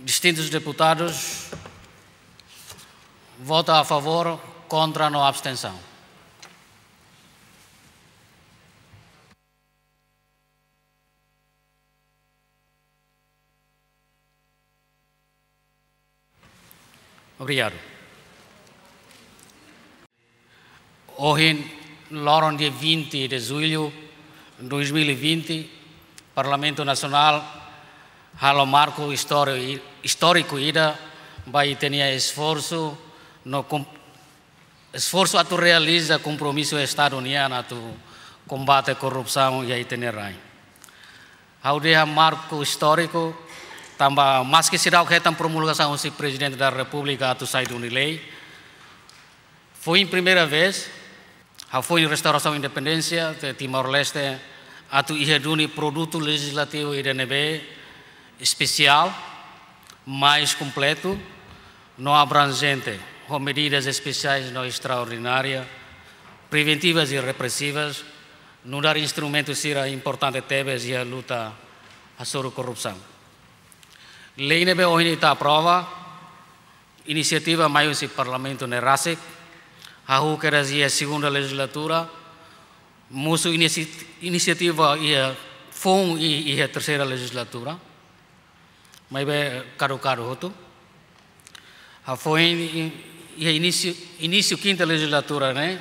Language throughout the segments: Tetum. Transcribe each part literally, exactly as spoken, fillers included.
Distintus deputadus vota a favór, kontra no abstensaun. Obrigadu. Ohin, loron dia vinte de julho dois mil e vinte, Parlamentu Nasionál halo marku istóriku, istóriku ida ba ita-nia esforsu no kom-, esforsu atu realiza kompromisu Estadu nian atu kombate korrupsaun iha ita-nia rain. Ha'u dehan marku istóriku, tanba maski seidauk hetan promulgasaun husi Prezidente da Repúblika atu sai duni lei, foin primeira vez, hafoin restaurasaun independénsia de Timor-Leste, atu iha duni produtu lejizlativu ida ne'ebé espesiál, mais kompletu no abranjente, ho medidas espesiais no estraordinárias, preventivas e repressivas, nu'udar instrumentu sira importante tebes iha luta hasoru korrupsaun. Lei ne'ebé ohin ita aprova, inisiativa mai husi Parlamentu ne'e rasik, hahú kedas iha segunda lejizlatura, mosu inisi-, inisiativa iha foun i-, iha terseira lejizlatura, maibé kadukadu hotu. Hafoin i-, iha inísiu, inísiu kinta lejizlatura ne'e,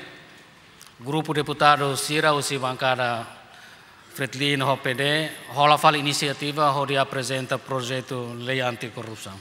grupu deputadu sira husi bankada Fretilin ho P D, hola fali inisiativa hodi aprezenta projetu lei anti-korrupsaun.